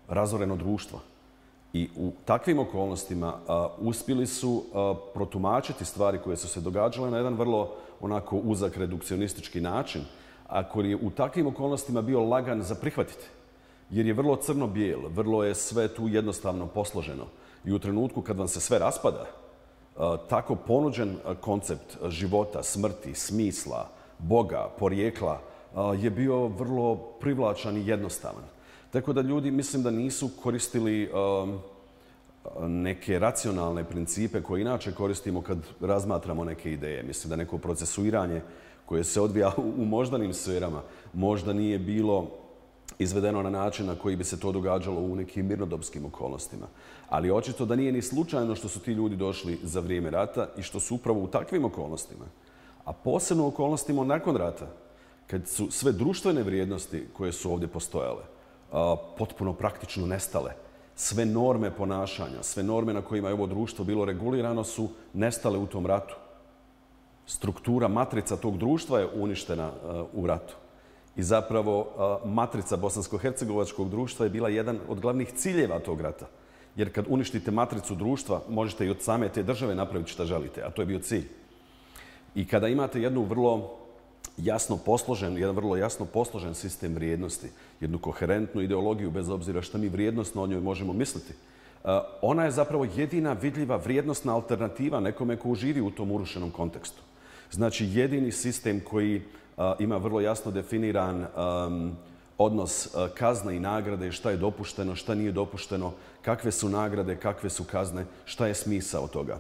razoreno društvo. I u takvim okolnostima uspjeli su protumačiti stvari koje su se događale na jedan vrlo onako uzak redukcionistički način, a koji je u takvim okolnostima bio lagan za prihvatiti. Jer je vrlo crno-bijel, vrlo je sve tu jednostavno posloženo. I u trenutku kad vam se sve raspada, tako ponuđen koncept života, smrti, smisla, Boga, porijekla je bio vrlo privlačan i jednostavan. Tako da ljudi mislim da nisu koristili neke racionalne principe koje inače koristimo kad razmatramo neke ideje. Mislim da neko procesuiranje koje se odvija u moždanim sferama možda nije bilo izvedeno na način na koji bi se to događalo u nekim mirnodopskim okolnostima. Ali očito da nije ni slučajno što su ti ljudi došli za vrijeme rata i što su upravo u takvim okolnostima, a posebno u okolnostima nakon rata, kad su sve društvene vrijednosti koje su ovdje postojale potpuno praktično nestale. Sve norme ponašanja, sve norme na kojima je ovo društvo bilo regulirano su nestale u tom ratu. Struktura, matrica tog društva je uništena u ratu. I zapravo matrica bosansko-hercegovačkog društva je bila jedan od glavnih ciljeva tog rata. Jer kad uništite matricu društva, možete i od same te države napraviti šta želite, a to je bio cilj. I kada imate jedan vrlo jasno posložen sistem vrijednosti, jednu koherentnu ideologiju, bez obzira što mi vrijednosno o njoj možemo misliti, ona je zapravo jedina vidljiva vrijednosna alternativa nekome ko živi u tom urušenom kontekstu. Znači, jedini sistem koji ima vrlo jasno definiran odnos kazne i nagrade, šta je dopušteno, šta nije dopušteno, kakve su nagrade, kakve su kazne, šta je smisao toga.